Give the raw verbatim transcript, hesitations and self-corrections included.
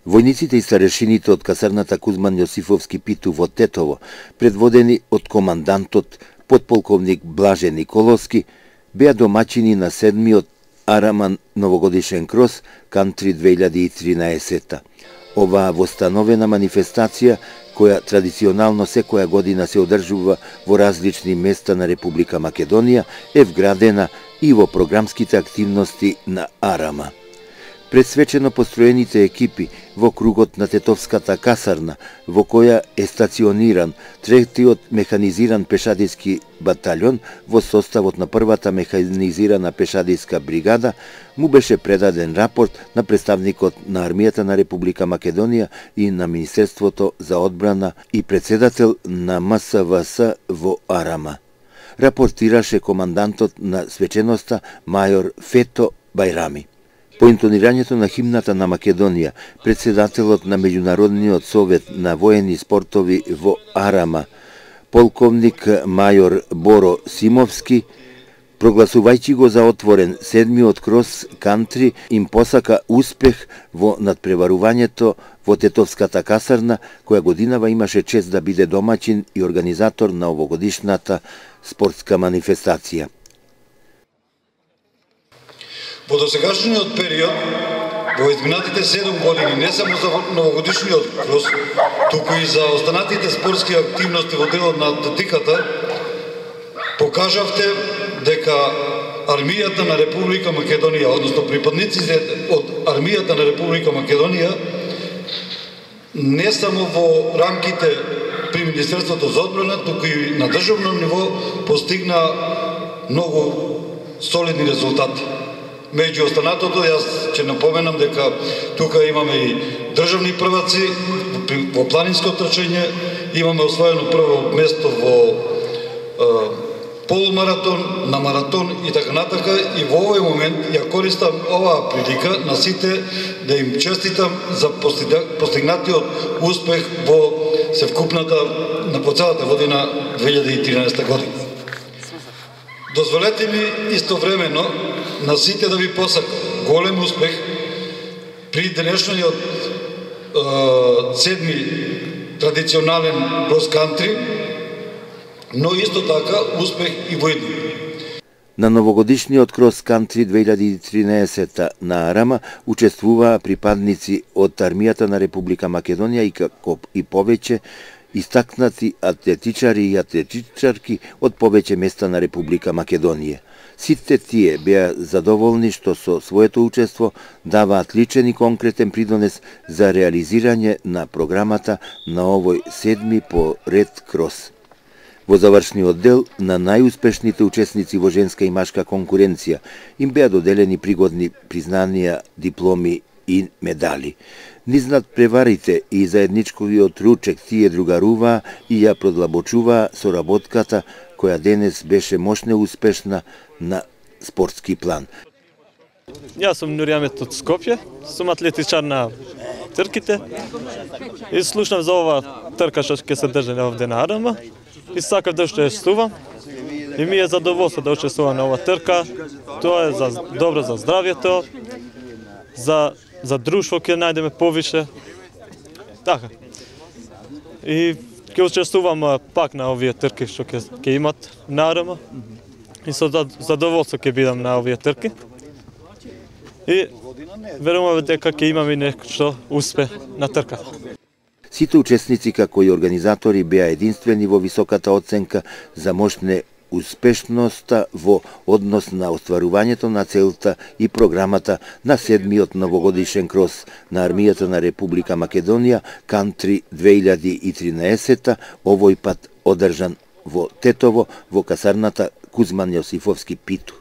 Војниците и старешините од касарната Кузман Јосифовски Питу во Тетово, предводени од командантот подполковник Блаже Николовски, беа домаќини на седмиот Араман новогодишен крос Кантри две илјади и тринаесетта. Оваа востановена манифестација, која традиционално секоја година се одржува во различни места на Република Македонија, е вградена и во програмските активности на Арама. Пресвечено построените екипи во кругот на Тетовската касарна, во која е стациониран третиот механизиран пешадиски батальон во составот на првата механизирана пешадиска бригада, му беше предаден рапорт на представникот на Армијата на Република Македонија и на Министерството за одбрана и председател на М С В С во Арама. Рапортираше командантот на свеченоста мајор Фето Бајрами. По интонирањето на химната на Македонија, председателот на Меѓународниот совет на воени спортови во Арама, полковник мајор Боро Симовски, прогласувајќи го за отворен седмиот крос Кантри, им посака успех во надпреварувањето во Тетовската касарна, која годинава имаше чест да биде домаќин и организатор на овогодишната спортска манифестација. Во досегашниот период, во изминатите седум години, не само за новогодишниот крос, туку и за останатите спортски активности во делот на атлетиката, покажавте дека Армијата на Република Македонија, односно припадниците од Армијата на Република Македонија, не само во рамките при Министерството за одбрана, туку и на државно ниво постигна многу солидни резултати. Меѓу останатото, јас ќе напоменам дека тука имаме и државни прваци во планинско трчање, имаме освоено прво место во е, полумаратон, на маратон и така натака, и во овој момент ја користам оваа прилика на сите да им честитам за постигнатиот успех во севкупната на по целата година две илјади и тринаесетта година. Дозволете ми истовремено на сите да ви посакам голем успех при денешниот е, седми традиционален крос кантри, но исто така успех и во идни. На новогодишниот крос кантри две илјади и тринаесетта на Арама учествуваа припадници од Армијата на Република Македонија и како и повеќе истакнати атлетичари и атлетичарки од повеќе места на Република Македонија. Сите тие беа задоволни што со своето учество даваат личен и конкретен придонес за реализирање на програмата на овој седми по ред крос. Во завршниот дел на најуспешните учесници во женска и машка конкуренција им беа доделени пригодни признанија, дипломи и медали. Низ надпреварите и заедничкиот ручек тие другаруваа и ја продлабочуваа соработката која денес беше мощно успешна на спортски план. Јас сум Нуријамет од Скопје, сум атлетичар на трките и слушнав за ова трка што ќе се држи овде на Арама и сакав да учествувам и ми е задоволство да учествувам на ова трка. Тоа е за добро за здравјето, за за друштво ќе најдеме повише. Така. И ќе учествувам пак на овие трки што ќе ќе имат на Арама. И со задоволство ќе бидам на овие трки. И верувам дека ќе имаме нешто успех на трката. Сите учесници како и организатори беа единствени во високата оценка за мощне успешноста во однос на остварувањето на целта и програмата на седмиот новогодишен крос на Армијата на Република Македонија Кантри две илјади и тринаесетта, овој пат одржан во Тетово во касарната Кузман Јосифовски Питу.